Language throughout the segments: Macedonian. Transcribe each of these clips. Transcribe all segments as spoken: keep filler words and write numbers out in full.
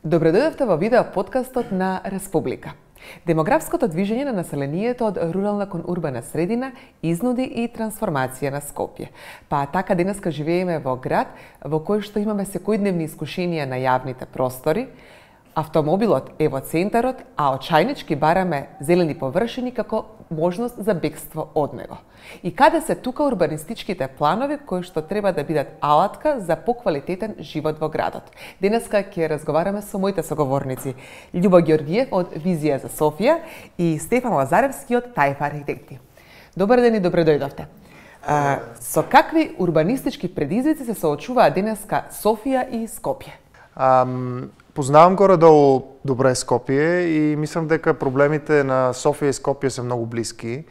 Добредојдовте во видео подкастот на Республика. Демографското движење на населението од рурална кон урбана средина изнуди и трансформација на Скопје. Па така денеска живееме во град во кој што имаме секојдневни искушенија на јавните простори. Автомобилот е во центарот, а очајнички бараме зелени површини како можност за бегство од него. И каде се тука урбанистичките планови кои што треба да бидат алатка за поквалитетен живот во градот? Денеска ќе разговараме со моите соговорници Љубо Ѓоргиев од Визија за Софија и Стефан Лазаревски од Тајф архитекти. Добар ден и добре дојдовте. А, со какви урбанистички предизвици се соочуваат денеска Софија и Скопје? Um... Познавам горе-долу добре Скопје и мислам дека проблемите на Софија и Скопје се многу блиски.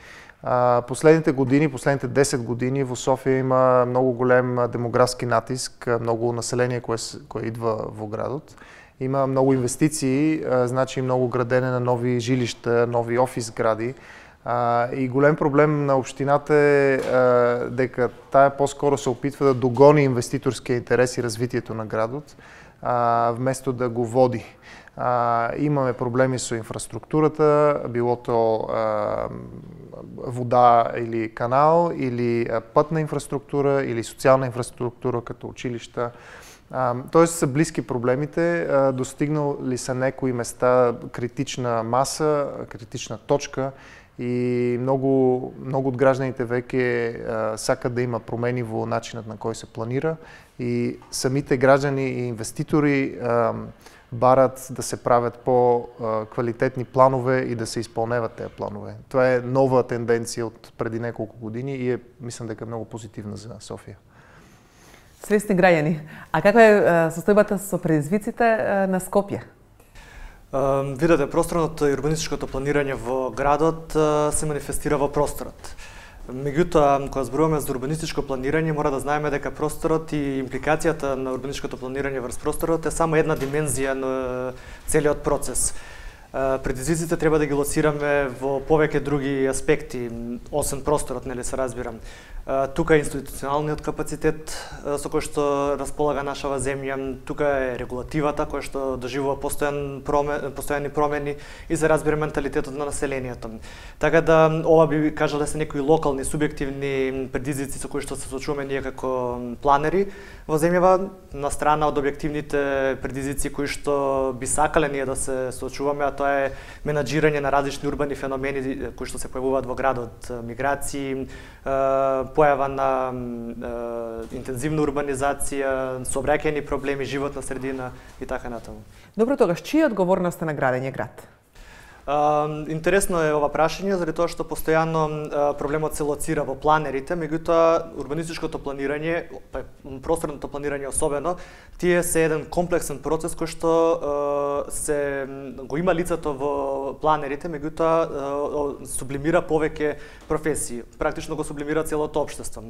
Последните години, последните десет години во Софија има многу голем демографски натиск, многу население кое, кое идва во градот. Има многу инвестиции, значи многу градене на нови жилишта, нови офис гради. И голем проблем на општината е дека таа поскоро се опитва да догони инвеститорския интерес и развитието на градот, вместо да го води. А, имаме проблеми со инфраструктурата, било то а, вода или канал, или а, пътна инфраструктура, или социјална инфраструктура като училишта. А, тоест са близки проблемите, а, достигнали са некои места критична маса, критична точка и многу, многу од гражданите веќе сакат да има промени во начинот на кој се планира и самите граѓани и инвеститори а, барат да се правят по а, квалитетни планове и да се исполневат тези планове. Тоа е нова тенденција од преди неколку години и е, мислам дека многу позитивна за Софија. Свесни граѓани, а каква е состојбата со предизвиците на Скопје? Видете, просторното и урбанистичкото планирање во градот се манифестира во просторот. Меѓутоа, кога зборуваме за урбанистичко планирање, мора да знаеме дека просторот и импликацијата на урбанистичкото планирање врз просторот е само една димензија на целиот процес. Предизвиците треба да ги лоцираме во повеќе други аспекти, освен просторот, нели се разбирам. Тука е институционалниот капацитет со кој што располага нашава земја, тука е регулативата која што доживува постојан промен, постојани промени и се разбира менталитетот на населението. Така да ова би кажал да се некои локални субјективни предизвици со кои што се соочуваме ние како планери во земјава, на страна од објективните предизвици кои што би сакале ние да се соочуваме, а тоа е менаџирање на различни урбани феномени кои што се појавуваат во градот, миграции, појава на е, интензивна урбанизација, сообраќајни проблеми, животна средина и така натаму. Добро, тогаш чија е одговорноста на градење град? Uh, интересно е ова прашање, заради тоа што постојано uh, проблемот се лоцира во планерите, меѓутоа урбанистичкото планирање, просторното планирање особено, тие се еден комплексен процес кој што uh, се го има лицето во планерите, меѓутоа uh, сублимира повеќе професии, практично го сублимира целото општество.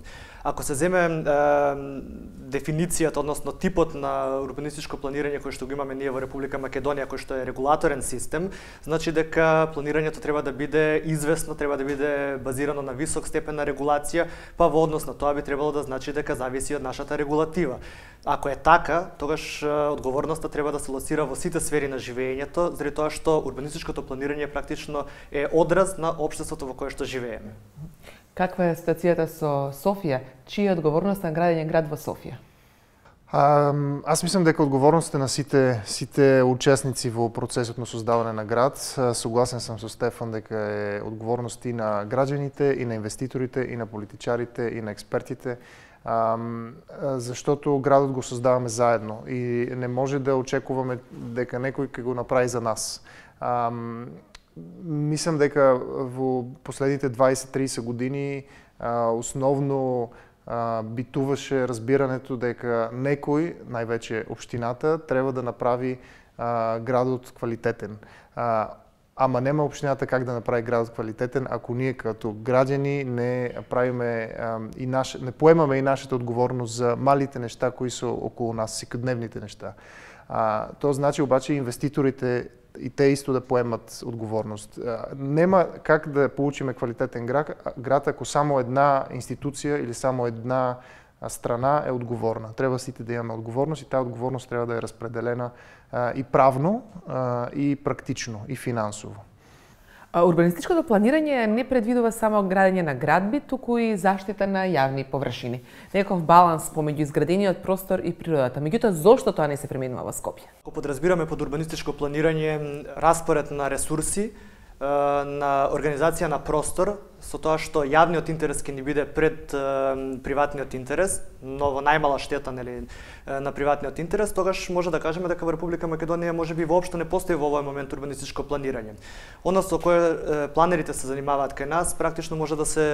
Ако се земе uh, дефиницијата, односно типот на урбанистичко планирање кој што го имаме ние во Република Македонија, кој што е регулаторен систем, значи дека планирањето треба да биде известно, треба да биде базирано на висок степен на регулација, па во однос на тоа би требало да значи дека зависи од нашата регулатива. Ако е така, тогаш одговорноста треба да се лоцира во сите сфери на живеењето, заради тоа што урбанистичкото планирање практично е одраз на општеството во кое што живееме. Каква е ситуацијата со Софија? Чија е одговорноста на градење град во Софија? А, аз мислам дека одговорноста на сите сите учесници во процесот на создавање на град. Согласен сам со Стефан дека е одговорност и на граѓаните, и на инвеститорите, и на политичарите, и на експертите, а, заштото градот го создаваме заедно и не може да очекуваме дека некој ќе го направи за нас. А, мислам дека во последните дваесет до триесет години а, основно битуваше разбирането дека некој, највеќе општината, треба да направи а, градот квалитетен. А, ама нема општината как да направи градот квалитетен ако ние като граѓани не правиме а, и наш, не поемаме и нашата одговорност за малите нешта кои се околу нас, секојдневните нешта. А, тоа значи обаче инвеститорите и те исто да поемат одговорност. Нема как да получиме квалитетен град, град ако само една институција или само една страна е одговорна. Треба сите да имаме одговорност и таа одговорност треба да е распределена а, и правно, а, и практично, и финансово. Урбанистичкото планирање не предвидува само градење на градби, туку и заштита на јавни површини. Некаков баланс помеѓу изградениот простор и природата. Меѓутоа, зошто тоа не се применува во Скопје? Ако подразбираме под урбанистичко планирање распоред на ресурси, на организација на простор, со тоа што јавниот интерес ќе ни биде пред приватниот интерес, но во најмала штета, нели, на приватниот интерес, тогаш може да кажеме дека во Република Македонија можеби воопшто не постои во овој момент урбанистичко планирање. Оно со кое планерите се занимаваат кај нас практично може да се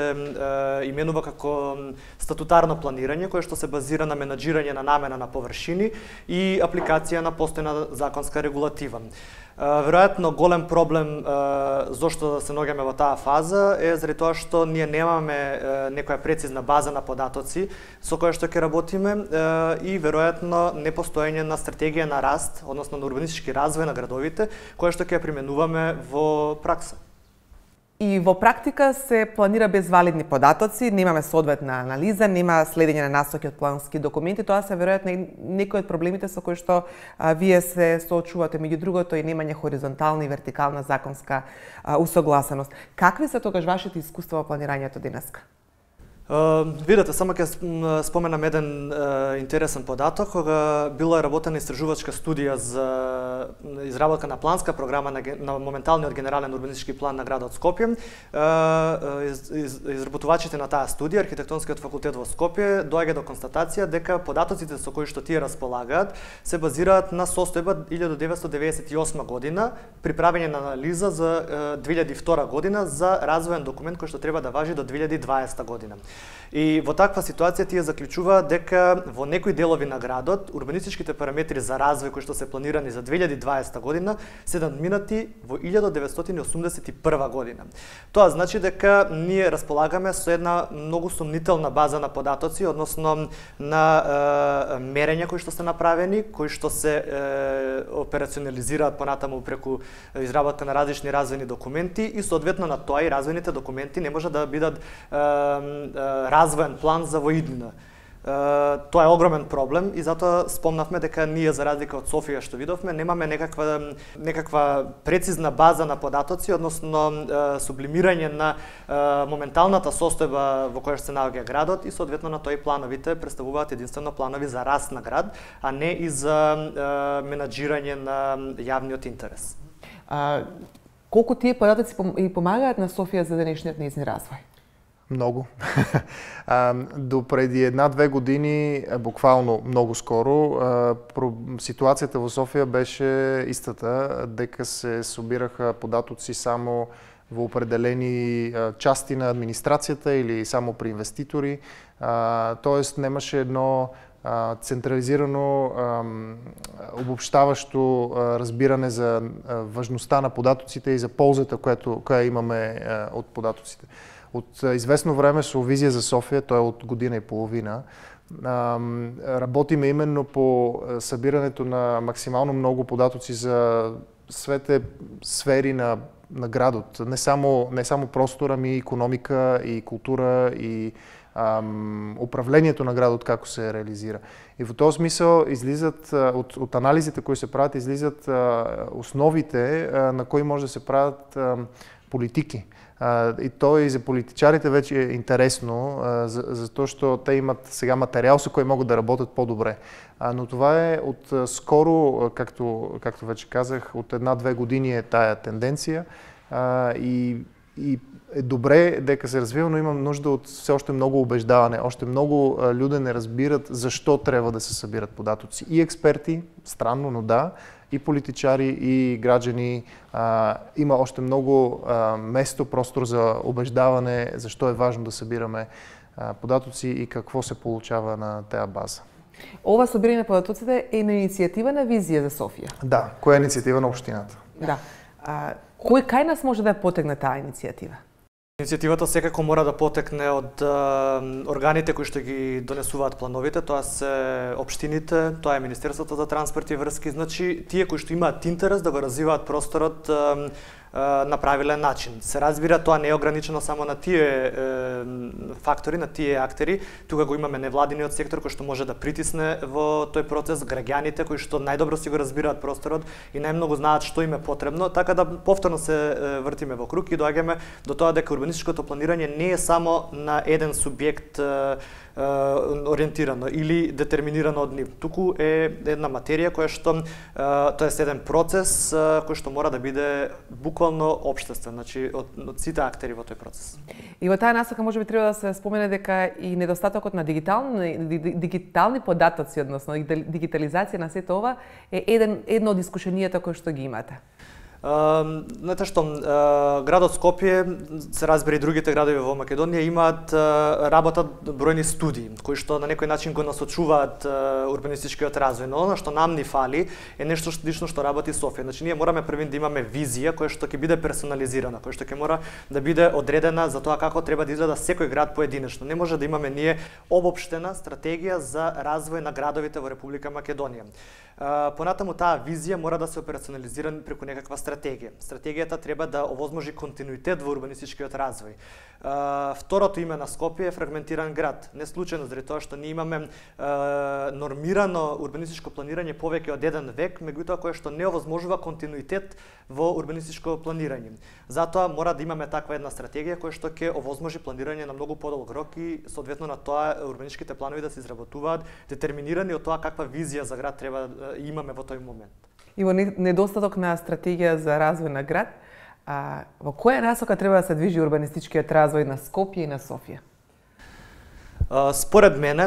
именува како статутарно планирање, кое што се базира на менаџирање на намена на површини и апликација на постојна законска регулатива. Веројатно голем проблем зошто се наоѓаме во таа фаза е заради тоа што ние немаме некоја прецизна база на податоци со која што ќе работиме и веројатно непостоење на стратегија на раст, односно на урбанистички развој на градовите, која што ќе ја применуваме во пракса. И во практика се планира без валидни податоци, немаме соодветна анализа, нема следење на насоки од плански документи, тоа се веројатно некои од проблемите со кои што а, вие се соочувате, меѓу другото и немање хоризонтална и вертикална законска а, усогласеност. Какви се тогаш вашите искуства во планирањето денеска? Uh, видете, само ќе споменам еден uh, интересен податок, кога била работена истражувачка студија за изработка на планска програма на, на моменталниот генерален урбанистички план на градот Скопје. Uh, из, из, изработувачите на таа студија, Архитектонскиот факултет во Скопје, доаѓа до констатација дека податоците со кои што тие располагаат се базираат на состојба илјада деветстотини деветдесет и осма година, при правење на анализа за uh, две илјади и втора година за развоен документ кој што треба да важи до две илјади и дваесета година. И во таква ситуација тие заклучуваат дека во некои делови на градот урбанистичките параметри за развој кои што се планирани за две илјади и дваесета година се надминати во илјада деветстотини осумдесет и прва година. Тоа значи дека ние располагаме со една многу сомнителна база на податоци, односно на е, мерења кои што се направени, кои што се е, операционализираат понатаму преку изработка на различни развојни документи и соодветно на тоа и развојните документи не може да бидат е, е, развоен план за воиднина. Тоа е огромен проблем и затоа спомнавме дека ние за разлика од Софија што видовме немаме некаква некаква прецизна база на податоци, односно сублимирање на моменталната состојба во која се наоѓа градот и соодветно на тоа и плановите представуваат единствено планови за раст на град, а не и за менаџирање на јавниот интерес. А, колку тие податоци и помагаат на Софија за денешниот нејзин развој? Много. До преди една-две години, буквално много скоро, ситуацијата во Софија беше истата, дека се собираха податоци само во определени части на администрацијата или само при инвеститори. Тоест немаше едно централизирано обобщаващо разбиране за важноста на податоците и за ползата която, која имаме од податоците. От известно време со Визија за Софија, тоа е од година и половина, работиме именно по събирането на максимално много податоци за свете сфери на, на градот. Не само, не само простор, ами и икономика, и култура, и ам, управлението на градот како се реализира. И во този смисъл излизат, от, от анализите кои се правят, излизат а, основите, а, на кои може да се правят а, политики. Uh, и то и за политичарите вече е интересно, uh, за, затоа што те имат сега материјал со кој могат да работат по-добре. Uh, но това е от uh, скоро, uh, както, както вече казах, от една-две години е тая тенденция uh, и, и е добре дека се развива, но имам нужда от все още много убеждаване. Още много uh, люди не разбират защо трябва да се събират податоци. И експерти, странно, но да, и политичари, и граѓани. А, има още много а, место, простор за убеждаване, защо е важно да събираме а, податоци и какво се получава на тая база. Ова собирање на податоците е на иницијатива на Визија за Софија. Да, која е иницијатива на општината. Да. А, кој кај нас може да потегне таа иницијатива? Иницијативата секако мора да потекне од а, органите кои што ги донесуваат плановите, тоа се општините, тоа е Министерството за транспорт и врски, значи тие кои што имаат интерес да го развиваат просторот а, направиле начин. Се разбира, тоа не е ограничено само на тие фактори, на тие актери. Тука го имаме невладиниот сектор кој што може да притисне во тој процес, граѓаните кои што најдобро си го разбираат просторот и најмногу знаат што им е потребно, така да повторно се вртиме во круг и доаѓаме до тоа дека урбанистичкото планирање не е само на еден субјект ориентирано или детерминирано од нив. Туку е една материја која што тоа е еден процес кој што мора да биде буквално општествен, значи од, од сите актери во тој процес. И во таа насока можеби треба да се спомене дека и недостатокот на дигитални дигитални податоци, односно дигитализација на сето ова е еден едно од искушенијата кои што ги имате. Uh, знаете што, uh, градот Скопје, се разбери и другите градови во Македонија имаат uh, работат бројни студии кои што на некој начин го насочуваат uh, урбанистичкиот развој, но она што нам ни фали е нешто слично што работи Софија. Значи ние мораме првин да имаме визија која што ќе биде персонализирана, која што ќе мора да биде одредена за тоа како треба да изгледа секој град поединечно. Не може да имаме ние обопштена стратегија за развој на градовите во Република Македонија. Uh, понатаму таа визија мора да се операционализира преку некаква стратегија. Стратегијата треба да овозможи континуитет во урбанистичкиот развој. Uh, второто име на Скопје е фрагментиран град. Не случајно заради тоа што ние имаме uh, нормирано урбанистичко планирање повеќе од еден век, меѓутоа кое што не овозможува континуитет во урбанистичко планирање. Затоа мора да имаме таква една стратегија која што ќе овозможи планирање на многу подолг рок и соодветно на тоа урбанистичките планови да се изработуваат детерминирани од тоа каква визија за град треба да имаме во тој момент. И во недостаток на стратегија за развој на град, а, во која насока треба да се движи урбанистичкиот развој на Скопје и на Софија? Според мене,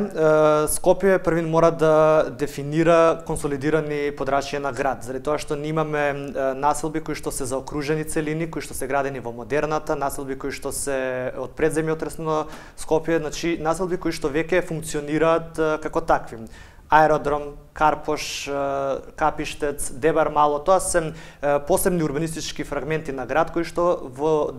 Скопје првин мора да дефинира консолидирани подрачја на град, заради тоа што ние имаме населби кои што се заокружени целини, кои што се градени во модерната, населби кои што се од предземјотрес на Скопје, значи населби кои што веќе функционираат како такви. Аеродром, Карпош, Капиштец, Дебар Мало, тоа се посебни урбанистички фрагменти на град кои што во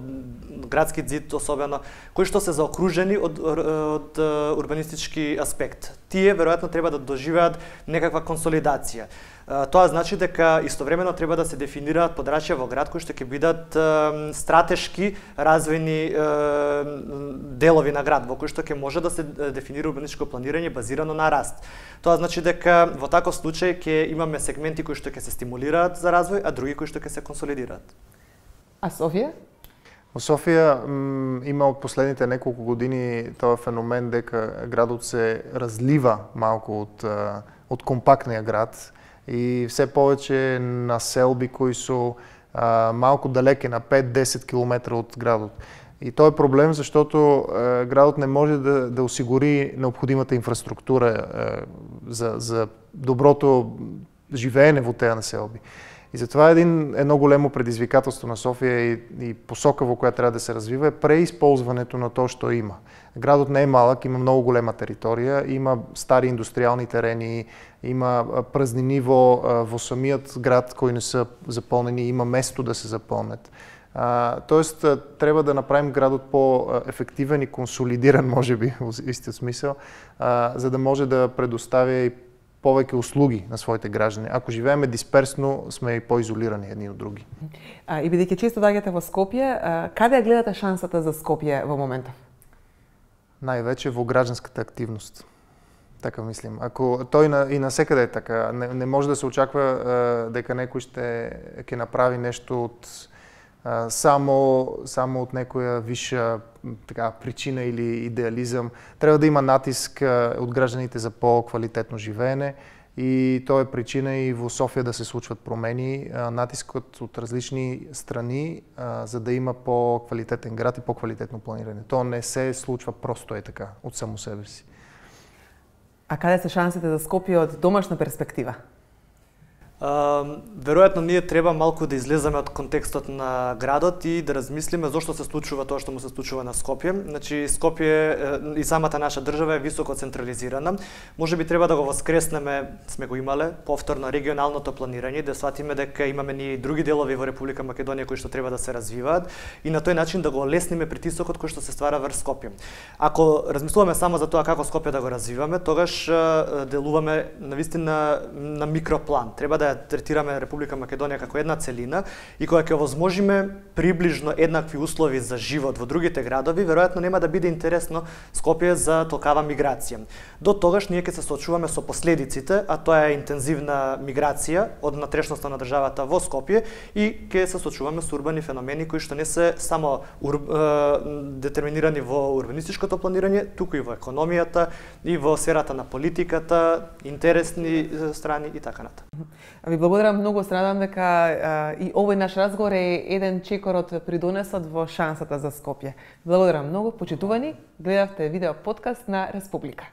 градски зид особено, кои што се заокружени од, од урбанистички аспект. Тие веројатно треба да доживеат некаква консолидација. Тоа значи дека истовремено треба да се дефинираат подрачја во град кои што ќе бидат стратешки развојни делови на град, во кои што ќе може да се дефинира урбанистичко планирање базирано на раст. Тоа значи дека во таков случај ќе имаме сегменти кои што ќе се стимулираат за развој, а други кои што ќе се консолидираат. А Софија? Во Софија има од последните неколку години тоа феномен дека градот се разлива малку од, од компактниот град и все повеќе населби кои се малку далеке, на пет до десет километри од градот. И тоа е проблем заштото е, градот не може да, да осигури необходимата инфраструктура е, за, за доброто живеење во тие населби. И затоа един, едно големо предизвикателство на Софија и, и посока во која треба да се развива е преисползването на тоа што има. Градот не е малък, има многу голема територија, има стари индустријални терени, има празнини во, во самиот град кои не се заполнени, има место да се заполнат. Uh, тоест, треба да направим градот по-ефективен и консолидиран, може би, во истиот смисел, uh, за да може да предоставя и повеќе услуги на своите граѓани. Ако живееме дисперсно, сме и поизолирани едни од други. А, и бидејќи често доаѓате во Скопје, а, каде ја гледате шансата за Скопје во моментов? Највеќе во граѓанската активност. Така мислим. Ако тој на, и насекаде е така, не, не може да се очаква uh, дека некој ще ќе направи нешто од само само од некоја виша така причина или идеализам. Треба да има натиск од граѓаните за по-квалитетно живеење и тоа е причина и во Софија да се случват промени, натискот од различни страни за да има по-квалитетен град и по-квалитетно планирање. Тоа не се случва просто е така од само себе си. А каде се шансите за Скопје од домашна перспектива? Uh, веројатно ние треба малку да излеземе од контекстот на градот и да размислиме зошто се случува тоа што му се случува на Скопје. Значи Скопје и самата наша држава е високо централизирана. Можеби треба да го воскреснеме, сме го имале, повторно регионалното планирање, да сватиме дека имаме ние и други делови во Република Македонија кои што треба да се развиваат и на тој начин да го олесниме притисокот кој што се ствара врз Скопје. Ако размислуваме само за тоа како Скопје да го развиваме, тогаш делуваме навистина на микроплан. Треба да да ја третираме Република Македонија како една целина и кога ќе овозможиме приближно еднакви услови за живот во другите градови, веројатно нема да биде интересно Скопје за толкава миграција. До тогаш ние ќе се соочуваме со последиците, а тоа е интензивна миграција од натрешноста на државата во Скопје и ќе се соочуваме со урбани феномени кои што не се само ур... детерминирани во урбанистичкото планирање, туку и во економијата и во сферата на политиката, интересни страни и така натаму. Ви благодарам многу, се надам дека а, и овој наш разговор е еден чекор од придонесот во шансата за Скопје. Благодарам многу, почитувани, гледавте видео подкаст на Република.